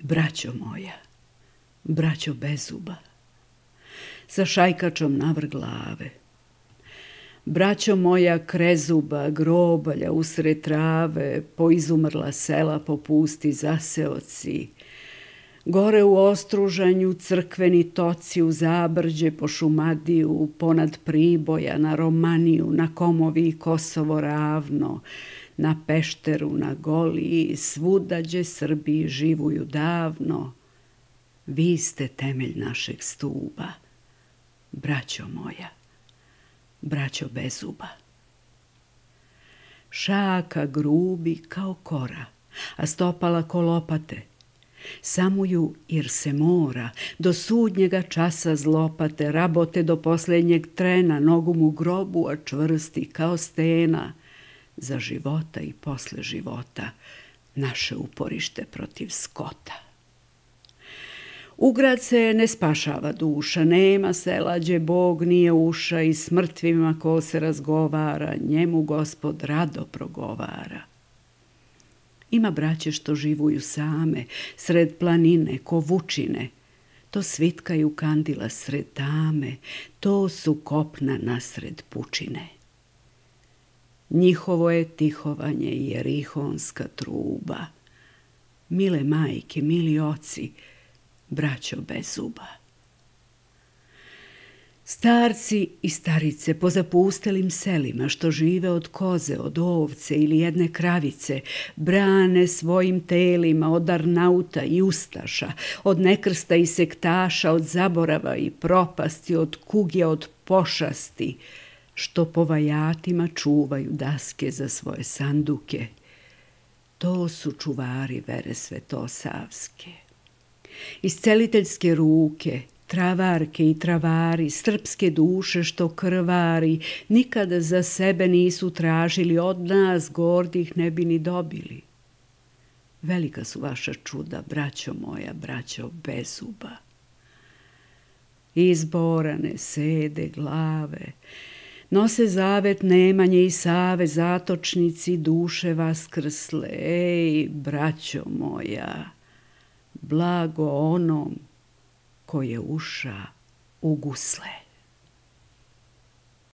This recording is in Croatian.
Braćo moja, braćo bezuba, sa šajkačom navrh glave. Braćo moja krezuba, grobalja usred trave, poizumrla sela po pusti zaseoci, gore u Ostružanju crkveni toci, u Zabrđe po Šumadiju, ponad Priboja, na Romaniju, na Komovi i Kosovo ravno, na Pešteru, na Goliji, svuda gdje Srbi živuju davno. Vi ste temelj našeg stuba, braćo moja, braćo bezuba. Šaka grubi kao kora, a stopala ko lopate. Samuju jer se mora, do sudnjega časa zlopate, rabote do posljednjeg trena, nogu mu grobu, a čvrsti kao stena. Za života i posle života, naše uporište protiv skota. U grad se ne spašava duša, nema sela gdje Bog nije uša, i s mrtvima ko se razgovara, njemu Gospod rado progovara. Ima braće što živuju same, sred planine, ko vučine, to svitkaju kandila sred tame, to su kopna nasred pučine. Njihovo je tihovanje i jerihonska truba. Mile majke, mili oci, braćo bezuba. Starci i starice po zapustelim selima što žive od koze, od ovce ili jedne kravice, brane svojim telima od Arnauta i Ustaša, od nekrsta i sektaša, od zaborava i propasti, od kuge, od pošasti, što po vajatima čuvaju daske za svoje sanduke. To su čuvari vere svetosavske. Isceliteljske ruke, travarke i travari, srpske duše što krvari, nikada za sebe nisu tražili, od nas gordih ne bi ni dobili. Velika su vaša čuda, braćo moja, braćo bezuba. Izborane sede glave, nose zavet Nemanje i Save, zatočnici duše vaskrsle. Ej, braćo moja, blago onom ko je uša u gusle.